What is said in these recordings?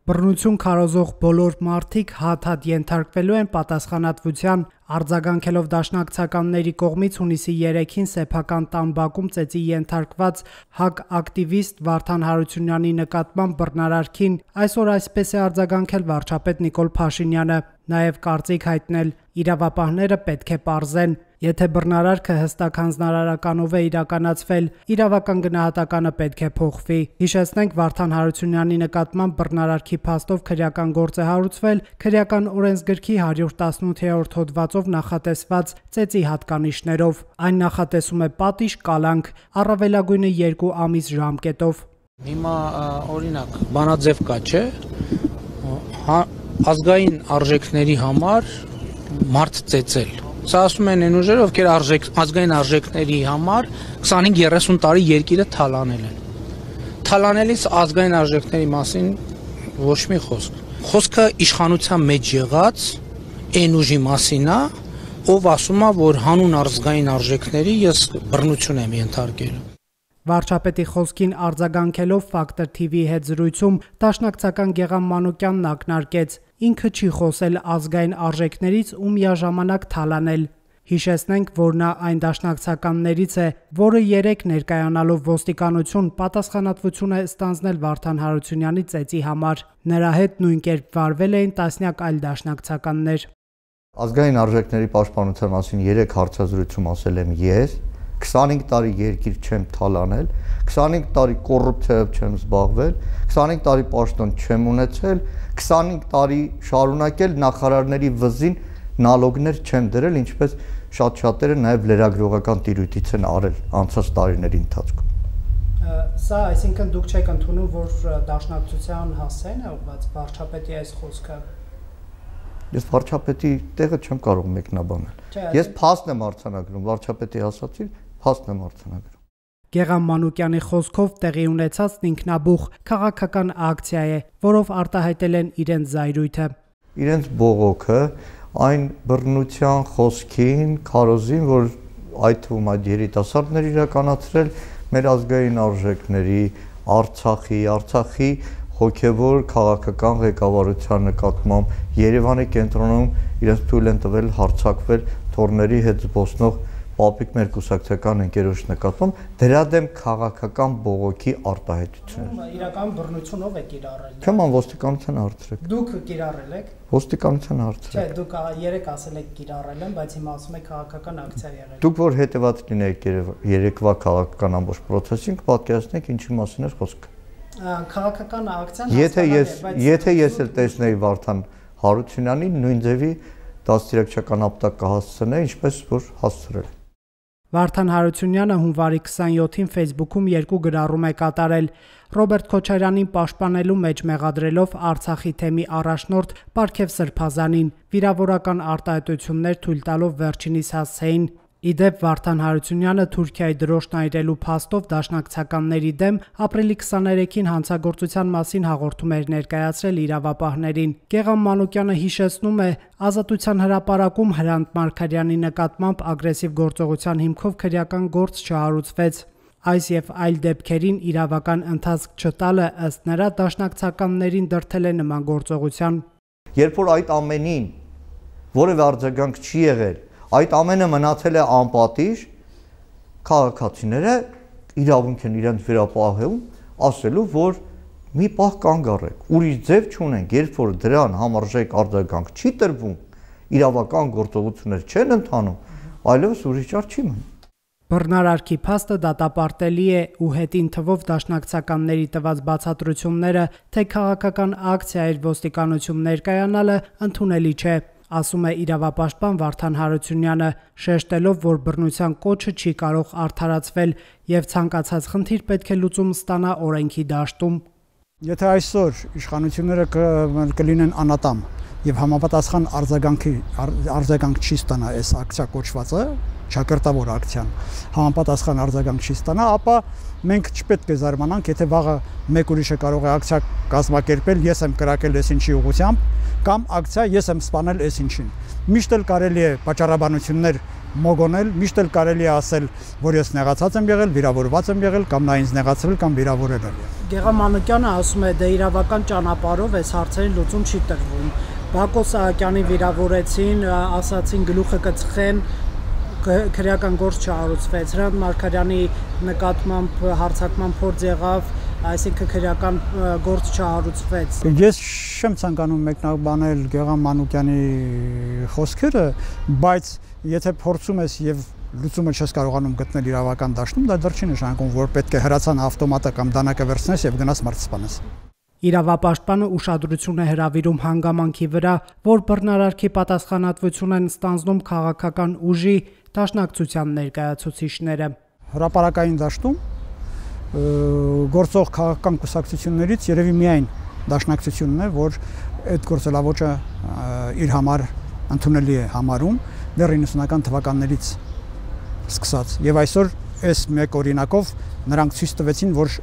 Բռնություն քարոզող բոլոր մարդիկ հատ-հատ ենթարկվելու են պատասխանատվության, արձագանքելով դաշնակցականների կողմից հունիսի 3-ին սեփական տան բակում ծեծի ենթարկված ՀԱԿ ակտիվիստ Վարդան Հարությունյանի նկատմամբ բռնարարքին, այսօր այսպես է արձագանքել վարչապետ Նիկոլ Փաշինյանը, նաև կարծիք հայտնել՝ իրավապահները պետք է պարզեն, եթե բռնարարքը հստակ հանձնարարականով է իրականացվել, իրավական գնահատականը պետք է փոխվի։ Հիշեցնենք, Վարդան Հարությունյանի նկատմամբ բռնարարքի փաստով քրեական գործ է հարուցվել քրեական օրենսգրքի 118-րդ հոդվածով նախատեսված ծեծի հատկանիշներով։ Այն նախատեսում է պատիժ կալանք, առավելագույնը 2 ամիս ժամկետով։ Հիմա օրինակ բանաձև կա, չէ՞, ազգային արժեքների համար մարդ ծեծել։ Սա ասում են այն ուժերը, ովքեր ազգային արժեքների համար 25-30 տարի երկիրը թալանել են։ Թալանելիս ազգային արժեքների մասին ոչ մի խոսք։ Խոսքը իշխանության մեջ եղած այն ուժի մասին է, ով ասում է, որ հանուն ազգային արժեքների ես բռնություն եմ ենթարկել։ Վարչապետի խոսքին արձագանքելով Factor TV-ի հետ զրույցում դաշնակցական Գեղամ Մանուկյանն ակնարկեց. ինքը չի խոսել ազգային արժեքներից ու միաժամանակ թալանել։ Հիշեցնենք, որ նա այն դաշնակցականներից է, որը 3 ներկայանալով ոստիկանություն պատասխանատվություն է ստանձնել Վարդան Հարությունյանի ծեծի համար։ Նրա հետ նույն կերպ վարվել էին տասնյակ այլ դաշնակցականներ։ Ազգային արժեքների պաշտպանության մասին 3 հարցազրույցում ասել եմ ես, 25 տարի երկիր չեմ թալանել, 25 տարի կոռուպցիայով չեմ զբաղվել, 25 տարի պաշտոն չեմ ունեցել, 25 տարի շարունակել նախարարների վզին նալոգներ չեմ դրել, ինչպես շատ-շատերը նաև լրագրողական տիրույթից են արել անցած տարիների ընթացքում։ Սա, այսինքն դուք չեք ընդունում, որ դաշնակցության հասցեին է ուղղված վարչապետի այս խոսքը։ Ես վարչապետի տեղը չեմ կարող մեկնաբանել։ Ես փաստ եմ արձանագրում, վարչապետի ասացի, փաստ եմ արձանագրում։ Գեղամ Մանուկյանի խոսքով տեղի ունեցածն ինքնաբուխ քաղաքական ակցիա է, որով արտահայտել են իրենց զայրույթը։ Իրենց բողոքը այն բռնության խոսքին, քարոզին, որ այդ թվում այդ երիտասարդներ իրականացրել մեր ազգային արժեքների, Արցախի հոգևոր քաղաքական ղեկավարության նկատմամբ Երևանի կենտրոնում իրենց թույլ են տվել հարձակվել թորների հետ զբոսնող պապիկ մեր կուսակցական ընկերոջ նկատմամբ դրա դեմ քաղաքական բողոքի արտահայտություններ։ Իրական բռնությունով եք կիրառել։ Քման ոստիկանության հարցրեք։ Դուք կիրառել եք։ Ոստիկանության հարցրեք։ Չէ, դուք 3 ասել եք կիրառել են, բայց հիմա ասում եք քաղաքական ակցիա եղել։ Դուք որ հետևած լինեիք երեկվա քաղաքական ամբողջ process-ին, կպատկերացնեք ինչի մասին էր խոսքը։ Քաղաքական ակցիան Եթե ես էլ տեսնեի Վարդան Հարությունյանին նույն ձևի դաստիարակչական ապտակ կհասցնեի, ինչպես որ հասցրել։ Վարդան Հարությունյանը հունվարի 27-ին Facebook-ում 2 գրառում է կատարել, Ռոբերտ Քոչարյանին պաշտպանելու մեջ մեղադրելով Արցախի թեմի առաջնորդ Պարքև Սրբազանին, վիրավորական արտահայտություններ թույլ տալով վերջինիս հասցեին։ Իդեպ Վարդան Հարությունյանը Թուրքիայի դրոշն այրելու փաստով դաշնակցականների դեմ ապրիլի 23-ին հանցագործության մասին հաղորդում էր ներկայացրել իրավապահներին։ Գեղամ Մանուկյանը հիշեցնում է, Ազատության հրապարակում Հրանտ Մարգարյանի նկատմամբ ագրեսիվ գործողության հիմքով քրեական գործ չհարուցվեց։ Այս եւ այլ դեպքերին իրավական ընթացք չտալը ըստ նրա դաշնակցականներին դրդել է նման գործողության։ Երբ որ այդ ամենին որևէ արձագանք չի եղել, այդ ամենը մնացել է անպատիժ, քաղաքացիները իրավունք են իրենց վերապահում, ասելու, որ մի պահ կանգ առեք, ուրիշ ձև չունենք, երբ որ դրան համարժեք արձագանք չի տրվում, իրավական գործողություններ չեն ընթանում, այլևս ուրիշ ճար չի մնում։ Բռնարարքի փաստը դատապարտելի է ու հետին թվով դաշնակցականների տված բացատրությունները, թե քաղաքական ակցիա էր ոստիկանություն ներկայանալը ընդունելի չէ, ասում է իրավապաշտպան Վարդան Հարությունյանը, շեշտելով, որ բռնության կոչը չի կարող արդարացվել եւ ցանկացած խնդիր պետք է լուծում ստանա օրենքի դաշտում։ Եթե այսօր իշխանությունները կլինեն անատամ եւ համապատասխան արձագանք չի ստանա այս ակցիա կոչվածը, ճակերտավոր ակցիան, համապատասխան արձագանք չի ստանա, ապա մենք չպետք է զարմանանք, եթե վաղը մեկ ուրիշը կարող է ակցիա կազմակերպել, ես եմ կրակել այս ինչի ուղղությամբ, կամ ակցիա ես եմ սպանել այս ինչին։ Միշտ էլ կարելի է պատճառաբանություններ մոգոնել, միշտ էլ կարելի է ասել, որ ես նեղացած եմ եղել, վիրավորված եմ եղել կամ նա ինձ նեղացրել կամ վիրավորել է։ Գեղամ Մանուկյանը ասում է, դե իրավական ճանապարհով այս հարցերին լուծում չի տրվում։ Բակո Սահակյանին վիրավորեցին, ասացին գլուխը կծխեն, քրեական գործ չհարուցվեց, Հրանտ Մարգարյանի նկատմամբ հարձակման փորձ եղավ, այսինքն քրեական գործ չհարուցվեց։ Ես չեմ ցանկանում մեկնաբանել Գեղամ Մանուկյանի խոսքերը, բայց եթե փորձում ես եւ լուծումը չես կարողանում գտնել իրավական դաշտում, դա դեռ չի նշանակում, որ պետք է հրացան ավտոմատը կամ դանակը վերցնես եւ գնաս մարդ սպանես։ Իրավապաշտպանը ուշադրություն է հրավիրում հանգամանքի վրա, որ բռնարարքի պատասխանատվություն են ստանձնում քաղաքական ուժի դաշնակցության ներկայացուցիչները։ Հրապարակային դաշտում գործող քաղաքական կուսակցություններից երևի միայն դաշնակցությունն է, որ այդ գործելավոճը իր համար ընդունելի է համարում դեռ 90-ական թվականներից սկսած եւ այսօր այս մեկ օրինակով նրանք ցույց տվեցին, որ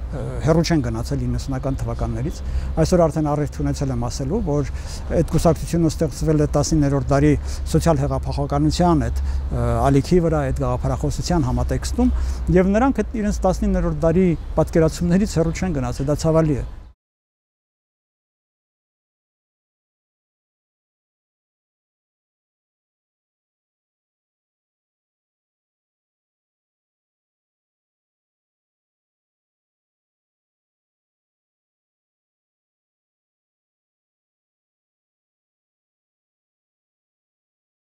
հեռու չեն գնացել 90-ական թվականներից։ Այսօր արդեն առիթ ունեցել եմ ասելու, որ այդ կուսակցությունը ստեղծվել է 19-րդ դարի սոցիալ հեղափոխականության այդ ալիքի վրա, այդ գաղափարախոսության համատեքստում, եւ նրանք այդ իրենց 19-րդ դարի պատկերացումներից հեռու չեն գնացել, դա ցավալի է։